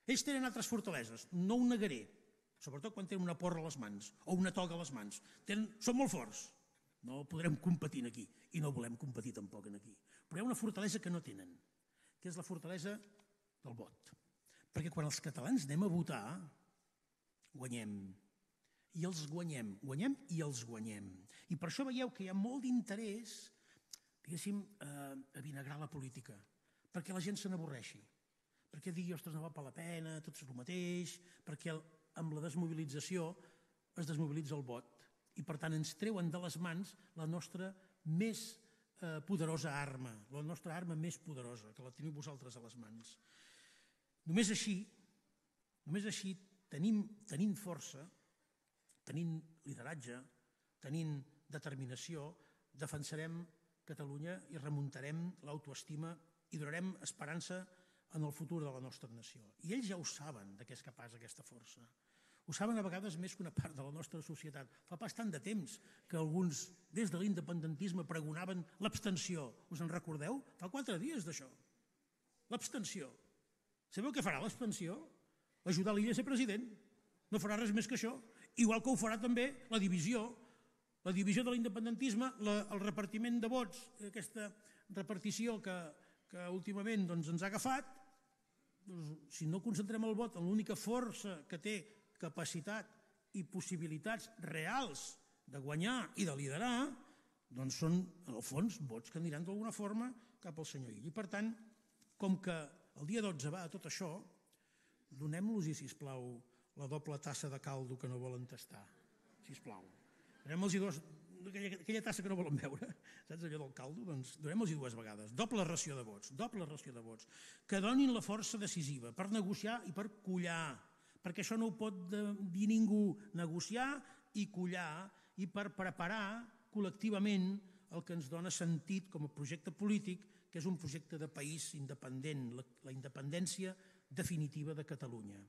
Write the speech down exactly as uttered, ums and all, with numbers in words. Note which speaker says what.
Speaker 1: Ells tenen altres fortaleses, no ho negaré, sobretot quan tenen una porra a les mans o una toga a les mans. Són molt forts, no podrem competir aquí i no volem competir tampoc aquí. Però hi ha una fortalesa que no tenen, que és la fortalesa del vot. Perquè quan els catalans anem a votar, guanyem. I els guanyem, guanyem i els guanyem. I per això veieu que hi ha molt d'interès, diguéssim, a vinagrar la política, perquè la gent se n'avorreixi, perquè digui, ostres, no val per la pena, tot és el mateix, perquè amb la desmobilització es desmobilitza el vot i per tant ens treuen de les mans la nostra més poderosa arma, la nostra arma més poderosa, que la teniu vosaltres a les mans. Només així, només així, tenint força, tenint lideratge, tenint determinació, defensarem Catalunya i remuntarem l'autoestima i donarem esperança en el futur de la nostra nació. I ells ja ho saben de què és capaç aquesta força. Ho saben a vegades més que una part de la nostra societat. Fa pas tant de temps que alguns, des de l'independentisme, pregonaven l'abstenció. Us en recordeu? Fa quatre dies d'això. L'abstenció. Sabeu què farà l'abstenció? Ajudar l'Illa a ser president. No farà res més que això. Igual que ho farà també la divisió. La divisió de l'independentisme, el repartiment de vots, aquesta repartició que últimament ens ha agafat, si no concentrem el vot en l'única força que té capacitat i possibilitats reals de guanyar i de liderar, doncs són, en el fons, vots que aniran d'alguna forma cap al senyor Illa. I per tant, com que el dia dotze va a tot això, donem-los, sisplau, la doble tassa de caldo que no volen tastar. Sisplau. Donem-los dos, aquella tassa que no volen beure, saps allò del caldo? Doncs donem-los dues vegades. Doble ració de vots, doble ració de vots. Que donin la força decisiva per negociar i per collar, perquè això no ho pot dir ningú, negociar i collar, i per preparar col·lectivament el que ens dona sentit com a projecte polític, que és un projecte de país independent, la independència definitiva de Catalunya.